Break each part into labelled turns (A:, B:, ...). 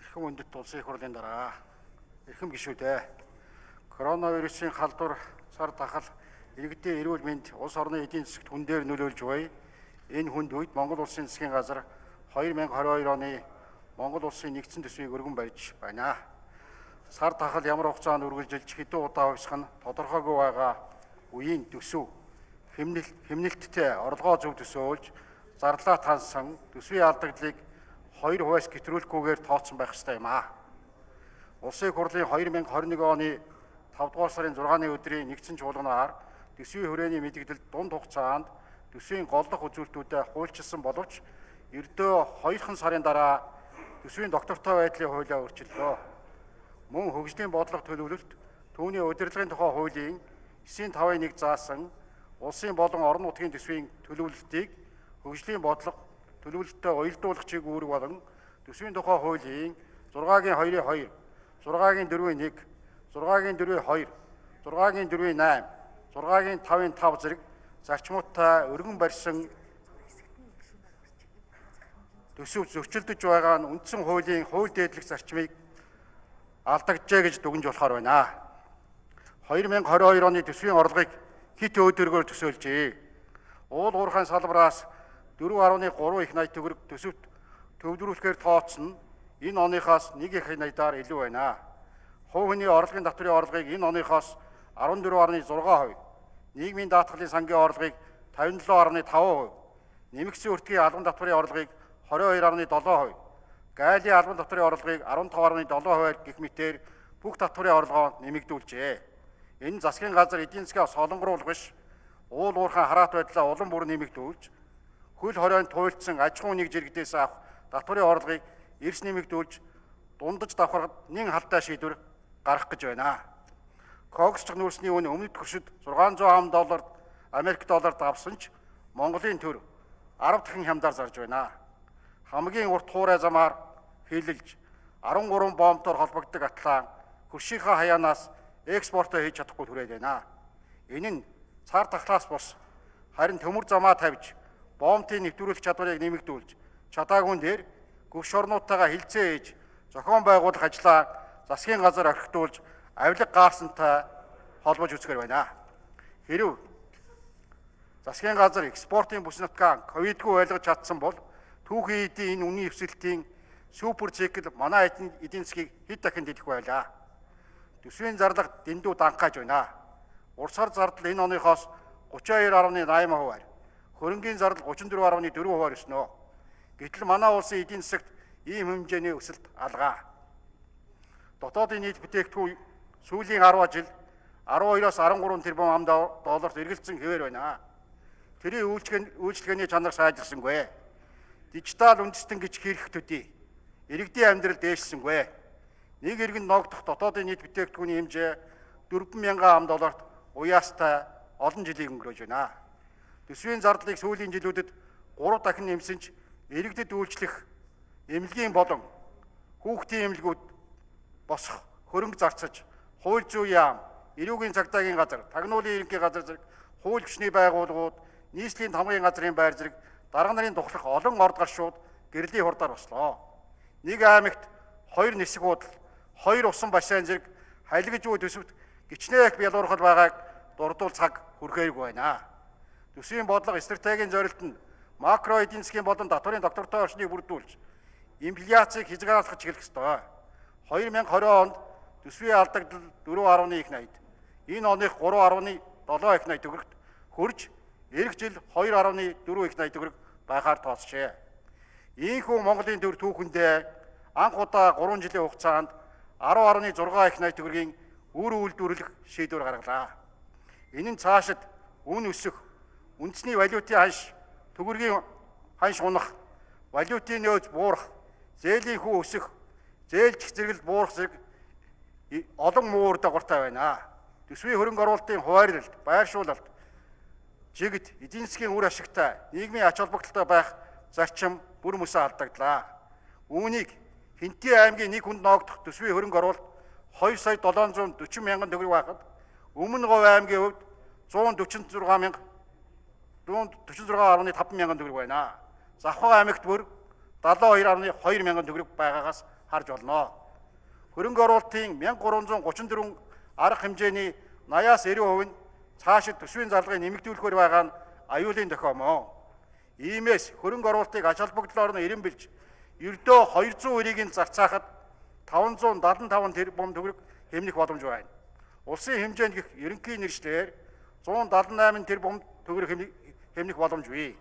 A: Эрхэм үндэт улсын их хурлын дараа эрхэм гишүүдээ коронавирусын халдвар сар тахал иргэдийн эрүүл мэнд улс орны эдийн засагт хүн дээр нөлөөлж буй энэ хүнд үед Монгол улсын засгийн газар 2022 оны Монгол улсын нэгдсэн төсвийг өргөн барьж байна. Сар тахал ямар хугацаанд үргэлжилж хэдэн удаа хувьсах нь тодорхойгүй байгаа үеийн төсөв хэмнэлттэй орлогоо зөв төсөөлж зарлаа тансан төсвийн алдагдлыг 2 хувиас гэтрүүлэхгүйгээр тооцсон байх ёстой юм аа. Улсын хурлын 2021 оны 5 дугаар сарын 6-ны өдрийн нэгдсэн чуулганаар төсвийн хүрээний мэдээлэл дунд хугацаанд төсвийн голлох үзүүлэлтүүдэд хуульчилсан боловч ердөө 2 сарын дараа төсвийн доктортой байдлын хуулиа өөрчиллөө. Мөн хөгжлийн бодлого төлөвлөлт түүний удирдлагын тухай хуулийн 9.5-1 заасан улсын болон орон нутгийн төсвийн төлөвлөлтийг хөгжлийн бодлого төлөвлөлтөд уялдуулах чиг үүрэг болон төсвийн тухай хуулийн 6-2-2, 6-4-1, 6-4-2, 6-4-8, 6-5-5 зэрэг зарчмуудтай өргөн барьсан төсөв зөрчилдөж байгаа нь үндсэн хуулийн хууль дээдлэх зарчмыг алдагджээ гэж дүгнж болохоор байна. 2022 оны төсвийн орлогыг хит өдөргөөр төсөөлжээ. Уул уурхайн салбараас 4.3 их найт төгрөг төсөвт төвлөрүүлэхээр тооцсон энэ оныхоос 1 их найдаар илүү байна. Хувь хүний орлогын татврын орлогыг энэ оныхоос 14.6%, нийгмийн даатгалын сангийн орлогыг 57.5%, нэмэгдсэн өртгийн албан татврын орлогыг 22.7%, гайлын албан татврын орлогыг 15.7% гэх мэтээр бүх татврын орлогоо нэмэгдүүлжээ. Энэ засгийн газар эдийн засгаа солонгоруулах биш, уул уурхайн хараат байдлаа улам бүр нэмэгдүүлж, хөл хоройнд туйлдсан аж ахуйн нэг жиргдээс авах татврын орлогыг эрс нэмэгдүүлж, дундаж давхаргад нэн халтай шийдвэр гаргах гэж байна. Когсч нүүрсний үн өмнөд хөршид $600 Америк долларт авсан ч Монголын төр 10 дахин хямдаар зарж байна. Хамгийн урт хуурай замаар хилэлж 13 бомбтоор холбогддог атлан хөршийнхаа хаяанаас экспортоо хийж чадахгүй түрээд байна. Энэ нь цар тахлаас бус харин төмөр замаа тавьж бомбын нэвтрүүлэх чадварыг нэмэгдүүлж чадаагүй дээр гүш орнуудтайгаа хилцээ хийж зохион байгуулах ажлаа засгийн газар орхитуулж авилга гаасантай холбож үзэхэр байна. Хэрв засгийн газар экспортын бүс нутгаа ковидгүй ойлгож чадсан бол түүхийн эдийн энэ үнийн өвсөлтийн супер цикл манай эдийн засгийг хэд дахин дэлгэх байлаа. Төсвийн зарлага дэндүү данхааж байна. Урсгар зардал энэ оныхоос 32.8%, хөрөнгийн зардал 34.4% өснө. Гэтэл манай улсын эдийн засагт ийм хэмжээний өсөлт алгаа. Дотоодын нийт бүтээгдэхүүн сүүлийн 10 жил 12-оос 13 тэрбум ам долларт эргэлзсэн хэвээр байна. Тэрийн үйлчлэгээний чанар сайжирсангүй. Дижитал үндэстэн гэж хэрэг төдий иргэдийн амьдрал дээшсэнгүй. Нэг иргэн ногдох дотоодын нийт бүтээгдэхүүний хэмжээ 4,000 ам долларт уяастай олон жилийг өнгөрөөж байна. Төсвийн зардлыг сүүлийн жилүүдэд 3 дахин нэмсэн ч иргэдэд үйлчлэх эмнэлгийн болон хүүхдийн эмнэлгүүд босох хөрөнгө зарцаж, хууль зүйн яам, эрүүгийн цагдаагийн газар, тагнуулын ерөнхий газар зэрэг хууль хүчний байгууллагууд, нийслэлийн тамгын газрын байр зэрэг дарга нарын тухлах олон орд гаршууд гэрлийн хурдаар бослоо. Нэг аймагт 2 нисэх худал, 2 усан бассейн зэрэг халигж буй төсөвт гичнээх бялуурхал байгааг дурдвал цаг хүрхээргүй байна. Төсвийн бодлого стратегийн зорилт нь макро эдийн засгийн болон татврын доктортой орчныг бүрдүүлж, инфляцийг хязгаарлах чиглэх ёстой. 2020 онд төсвийн алдагдал 4.1 их найд, энэ оных 3.7 их найд төгрөгт хөрж, эх жил 2.4 их найд төгрөг байхаар тооцжээ. Ийхүү Монголын төр түүхэндээ анх удаа 3 жилийн хугацаанд 10.6 их найд төгрөгийн үр үйлдвэрлэх шийдвэр гаргалаа. Энэ нь цаашид үн өсөх, үндэсний валютын ханш, төгрөгийн ханш унах, валютын нөөц буурах, зээлийн хүү өсөх, зээлжих зэрэгэл буурах зэрэг олон муу үр дагавартай байна. Төсвийн хөрөнгө оруулалтын хуваарлалт, байршуулалт, жигд, эдийн засгийн үр ашигтай, нийгмийн ач холбогдолтой байх зарчим бүр мөсөө алдагдлаа. Үүнийг Хинтээ аймгийн нэг хүнд ногдох төсвийн хөрөнгө оруулалт 2,740,000 төгрөг байхад Өмнө Говь аймгийн хувьд 146.5 мянган төгрөг байна. Завхаа аймагт бүр 72.2 мянган төгрөг байгаагаас харж болно. Хөрөнгө оруулалтын 1334 арга хэмжээний 80-аас 90% нь цаашид төсвийн зарлагыг нэмэгдүүлэхээр байгаа нь аюулын тохиомоо. Иймээс хөрөнгө оруулалтыг ач холбогдлоор нь эренбэлж ердөө 200 өрийг зарцаахад 575 тэрбум төгрөг хэмнэх боломж байна. Улсын хэмжээнд гэх ерөнхий нэршлэр 178 тэрбум төгрөг хэмнэх боломж бий.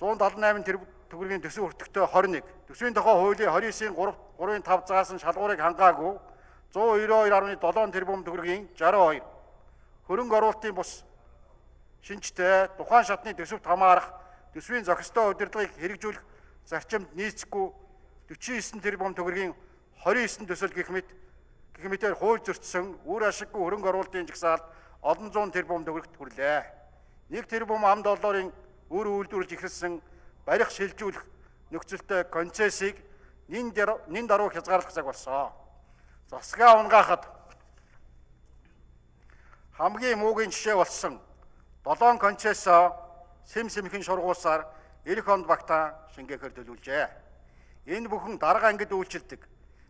A: 178 тэрбум төгрөгийн төсөв өртөгтэй 21, төсвийн тухай хуулийн 29-ийн 3.5 заас нь шалгуурыг хангаагүй 192.7 тэрбум төгрөгийн 62, хөрөнгө оруулалтын бус шинжтэй тухайн шатны төсөвт хамаарах төсвийн зохистой удирдлагыг хэрэгжүүлэх зарчимд нийцэхгүй 49 тэрбум төгрөгийн 29 төсөл гэх мэтээр хууль зөрчсөн үр ашиггүй хөрөнгө оруулалтын жагсаалд олон зуун тэрбум төгрөгт хүрлээ. 1 тэрбум ам долларын үр үйлдвэрлэж ихэлсэн барих шилжүүлэх нөхцөлтэй концессийг нин даруй хязгаарлах цаг болсон. Засгаа унгаахад хамгийн муугийн жишээ болсон 7 концессоо сэмхэн шургуулсаар эх онд багтаан шингээхээр төлөвлөжээ. Энэ бүхэн дарга ангид үйлчилдэг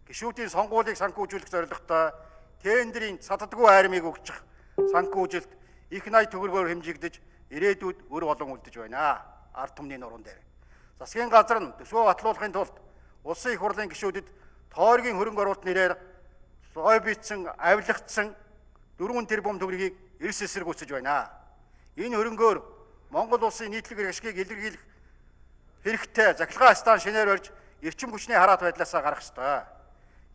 A: гишүүдийн сонгуулийг санхүүжүүлэх зорилготой тендерийн цаддаггүй айрмыг өгчих санхүүжилт их 80 төгрөгөөр хэмжигдэж ирээдүйд өр болон үлдэж байна. Ард түмний нуруунд дээр. Засгийн газар нь төсвөө батлуулахын тулд улсын их хурлын гишүүдэд тойргийн хөрөнгө оруулалт нэрээр сой бичсэн, авилгацсан 4 тэрбум төгрөгийг эрс эсэргүүцэж байна. Энэ хөрөнгөөр Монгол улсын нийтлэг ашгийг илэрхийлэх хэрэгтэй захиргаа стан шинээр барьж эрчим хүчний хараат байдлаасаа гарах ёстой.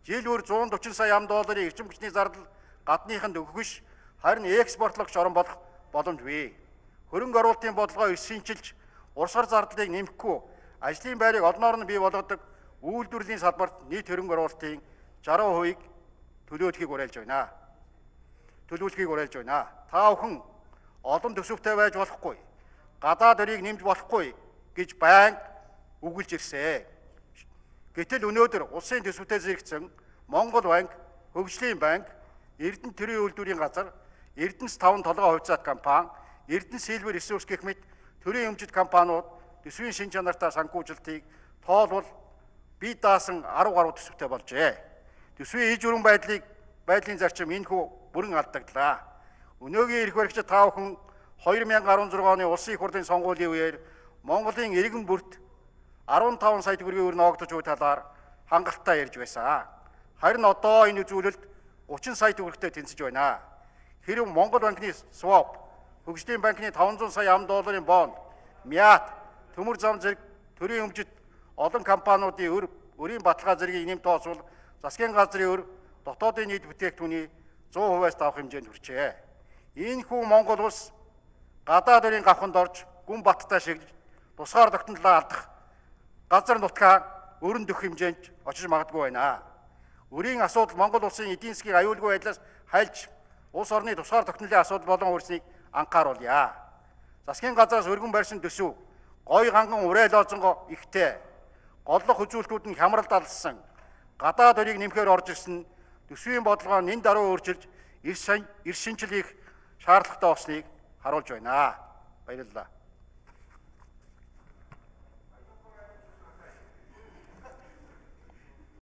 A: Жил бүр 140 сая ам долларын эрчим хүчний зардал гадныханд өгөх биш, харин экспортлогч орон болох боломж бий. Хөрөнгө оруулалтын бодлогоо эрс шинжилж, урсгар зардлыг нэмэхгүй, ажлын байрыг олноор нь бий болгодог үйлдвэрлэлийн салбарт нийт хөрөнгө оруулалтын 60%-ийг төлөвлөхийг уриалж байна. Та бүхэн олон төсөвтэй байж болохгүй, гадаад өрийг нэмж болохгүй гэж байнга үгэлж ирсэн. Гэтэл өнөөдөр улсын төсөвтэй зэрэгцэн Монгол банк, Хөгжлийн банк, Эрдэнэ төрийн үйлдвэрийн газар, Эрдэнэс 5 толгой хувьцаат компани, Эрдэнэ Silver Resource гэх мэт төрийн өмчит компаниуд төсвийн шин чанартай санхүүжилтийг тоолвол бие даасан 10 гаруй төсөвтэй болжээ. Төсвийн иж өрөн байдлын зарчим энэхүү бүрэн алдагдлаа. Өнөөгийн эрх баригчид та бүхэн 2016 оны улсын их хурлын сонгуулийн үеэр Монголын иргэн бүрт 15 сая төгрөгийн өр ногдож буй талаар хангалттай ярьж байсан. Харин одоо энэ үзүүлэлт 30 сая төгрөгтэй тэнцэж байна. Хэрэв Монгол банкны swap, Хөгжлийн банкны 500 сая ам долларын бонд, Мят, төмөр зам зэрэг төрийн өмчит олон компаниудын өрийн баталгаа зэргийг нэмт тооцвол засгийн газрын өр дотоодын нийт бүтээгдэхүүний 100%-аас давах хэмжээнд хүрчээ. Ийхүү Монгол улс гадаад өрийн гавханд орж гүн баттай шиг тусгаар тогтнолоо алдах газар нутгаа өрн дөх хэмжээнд очиж магадгүй байна. Өрийн асуудал Монгол улсын эдийн засгийн аюулгүй байдлаас хайлж улс орны тусгаар тогтнолын асуудал болон үүснийг анхааруулъя. Засгийн газраас өргөн барьсан төсөв гой ганган уриалоозонго ихтэй голлох үзүүлэлтүүд нь хямралд алсан гадаад өрийг нэмэхээр орж ирсэн төсвийн бодлогоо нэн даруй өөрчилж эрс шинжил хийх шаардлагатай болсныг харуулж байна. Баярлалаа.